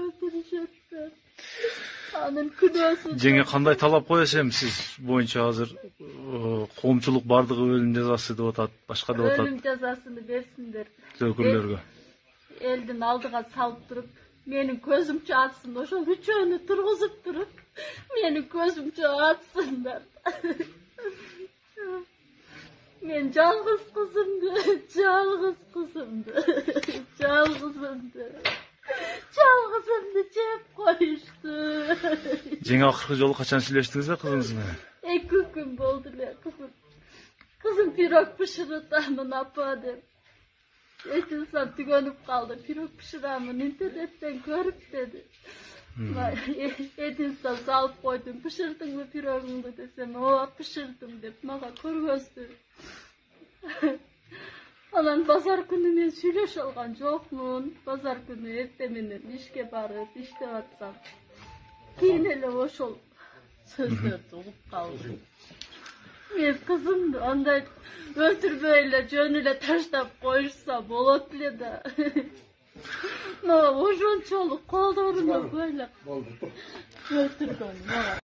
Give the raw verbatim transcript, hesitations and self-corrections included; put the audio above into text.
өлтүрүшөт. Анын күнөөсү. Жеңе кандай талап коесуз эми сиз боюнча азыр коомчулук бардыгы өлүм жазасы деп атат, башка деп атат. Өлүм жазасын берсиндер. Өкүлдөргө. Элдин алдыга салып туруп, менин көзүмчө атсын, ошол үчөөнү тургузуп туруп, менин көзүмчө атсындар. Мен жалгыз кызымды, жалгыз кызымды, жалгызымды, жалгызымды жеп коюшту. Жеңе акыркы жолу качан сүйлөштүңүз да кызыңыз менен? Эки күн болду эле кызым. Кызым пирог бышырытамын апа деп. Эчинсам түгөнүп калды. Пирог бышырамын интернеттен көрүп деди. Эдинстан салып койдум. Бышырдыңбы пирогуңду десем, ооба бышырдым деп мага көргөздү. Анан базар күнү мен сүйлөшө алган жокмун. Базар күнү эртең менен ишке барып иштеп атсам, кийин эле ошол сөздөрдү угуп калдым. Мен кызымды андай өлтүрбөй эле жөн эле таштап коюшса болот эле да. Мага ошончолук колдоруна бойлоп өлтүргөн.